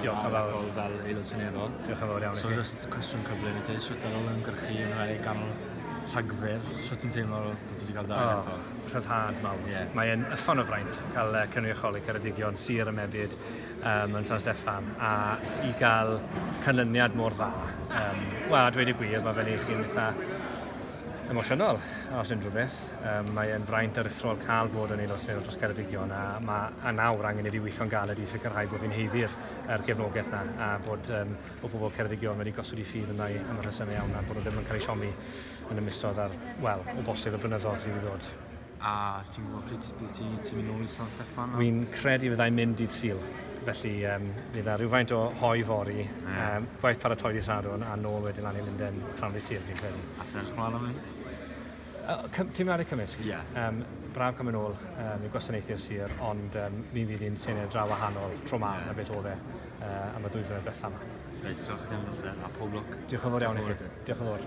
Diolch yn fawr. Fel aelod seneddol. Diolch yn fawr iawn i So chi. Just cwestiwn cyflym i ti, sut ar ôl ymgyrchu yn rhai ganol Rhagfyr, sut ti'n teimlo bod ti wedi cael dau Oh, ethol? Rhyddhad mawr. Ie. Mae'n uffern o fraint cael cynrychioli Ceredigion, sir y mebyd yn San Steffan, a i gael canlyniad mor dda. Wel, a dweud y gwir, mae fe'n ei chi'n eitha emosiynol, os unrhyw beth. Mae'n fraint aruthrol cael bod yn aelod seneddol dros Ceredigion a nawr angen i fi weithio'n galed i sicrhau bod fi'n haeddu'r gefnogaeth na a bod pobl Ceredigion wedi gosod eu ffydd yna i am y rhesymau iawn a bod nhw ddim yn cael eu siomi yn y misoedd ar, wel, o bosib y blynyddoedd sydd i ddod. A ti'n gwybod pryd bydd ti'n mynd nôl i San Steffan? Wy'n credu fyddai'n mynd dydd Sul. Felly fydd 'na rhywfaint o hoe fory, gwaith paratoi dydd Sadwrn a nôl wedyn lan i Lundain prynhawn dydd Sul, fi'n credu. A ti'n edrych ymlaen am hyn? Teimladau cymysg. Ie. Braf cael mynd nôl i gwasanaethu'r sir, ond mi fydd hi'n senedd dra wahanol tro ma na beth oedd e am y 2 flynedd diwethaf yma. Reit, diolch i ti am amser, a pob lwc. Diolch yn fawr iawn i Diolch chi. yn fawr i ti. Diolch yn fawr.